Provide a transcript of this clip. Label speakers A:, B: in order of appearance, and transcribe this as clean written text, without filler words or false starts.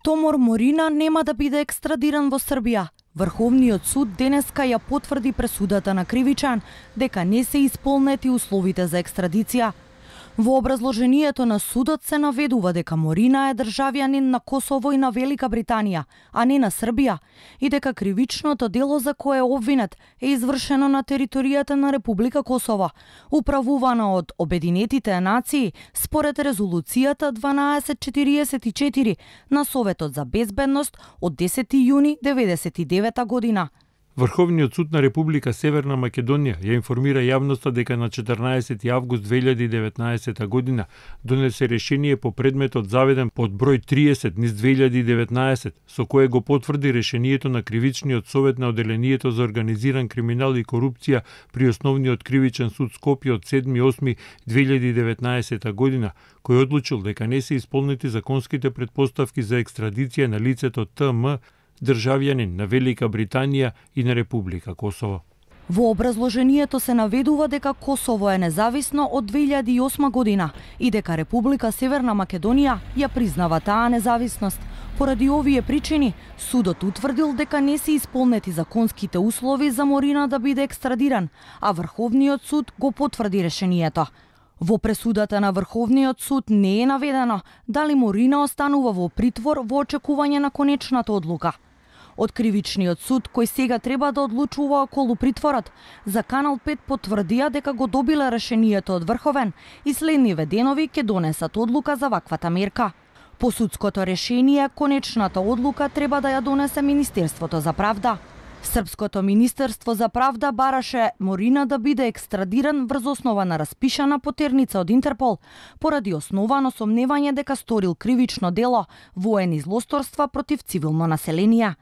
A: Томор Морина нема да биде екстрадиран во Србија. Врховниот суд денеска ја потврди пресудата на кривичан дека не се исполнети условите за екстрадиција. Во образложението на судот се наведува дека Морина е државјанин на Косово и на Велика Британија, а не на Србија, и дека кривичното дело за кое е обвинет е извршено на територијата на Република Косово, управувана од Обединетите нации според резолуцијата 1244 на Советот за безбедност од 10 јуни 1999 година.
B: Врховниот суд на Република Северна Македонија ја информира јавноста дека на 14 август 2019 година донесе решение по предметот заведен под број 30 низ 2019, со кое го потврди решението на Кривичниот совет на Оделението за организиран криминал и корупција при Основниот кривичен суд Скопје од 7.8.2019 година, кој одлучил дека не се исполнети законските претпоставки за екстрадиција на лицето ТМ, државјанин на Велика Британија и на Република Косово.
A: Во образложението се наведува дека Косово е независно од 2008 година и дека Република Северна Македонија ја признава таа независност. Поради овие причини, судот утврдил дека не се исполнети законските услови за Морина да биде екстрадиран, а Врховниот суд го потврди решението. Во пресудата на Врховниот суд не е наведено дали Морина останува во притвор во очекување на конечната одлука. Од Кривичниот суд, кој сега треба да одлучува околу притворот, за Канал 5 потврдија дека го добила решението од Врховен и следниве денови ќе донесат одлука за ваквата мерка. По судското решение, конечната одлука треба да ја донесе Министерството за правда. Српското Министерство за правда бараше Морина да биде екстрадиран врз основа на распишана потерница од Интерпол, поради основано сомневање дека сторил кривично дело, воени злосторства против цивилно население.